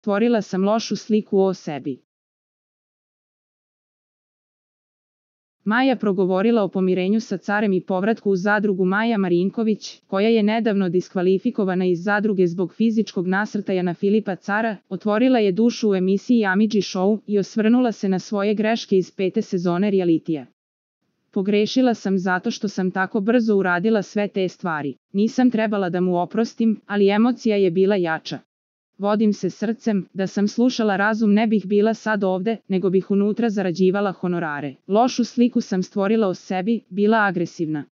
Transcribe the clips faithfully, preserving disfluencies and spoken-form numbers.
Stvorila sam lošu sliku o sebi. Maja progovorila o pomirenju sa carem i povratku u zadrugu. Maja Marinković, koja je nedavno diskvalifikovana iz zadruge zbog fizičkog nasrtaja na Filipa Cara, otvorila je dušu u emisiji Amidži Show i osvrnula se na svoje greške iz pete sezone realitija. Pogrešila sam zato što sam tako brzo uradila sve te stvari. Nisam trebala da mu oprostim, ali emocija je bila jača. Vodim se srcem, da sam slušala razum ne bih bila sad ovde, nego bih unutra zarađivala honorare. Lošu sliku sam stvorila o sebi, bila agresivna.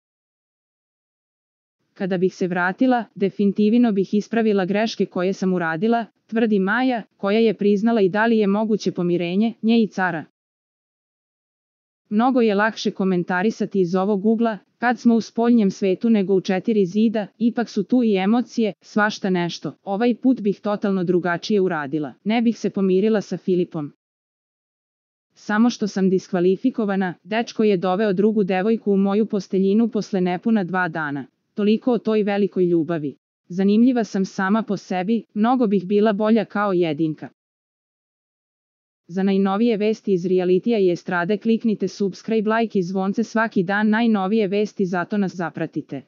Kada bih se vratila, definitivno bih ispravila greške koje sam uradila, tvrdi Maja, koja je priznala i da li je moguće pomirenje nje i cara. Mnogo je lakše komentarisati iz ovog ugla, kad smo u spoljnjem svetu nego u četiri zida, ipak su tu i emocije, svašta nešto. Ovaj put bih totalno drugačije uradila. Ne bih se pomirila sa Filipom. Samo što sam diskvalifikovana, dečko je doveo drugu devojku u moju posteljinu posle nepuna dva dana. Toliko o toj velikoj ljubavi. Zanimljiva sam sama po sebi, mnogo bih bila bolja kao jedinka. Za najnovije vesti iz realitija i estrade kliknite subscribe, like i zvonce svaki dan. Najnovije vesti, zato nas zapratite.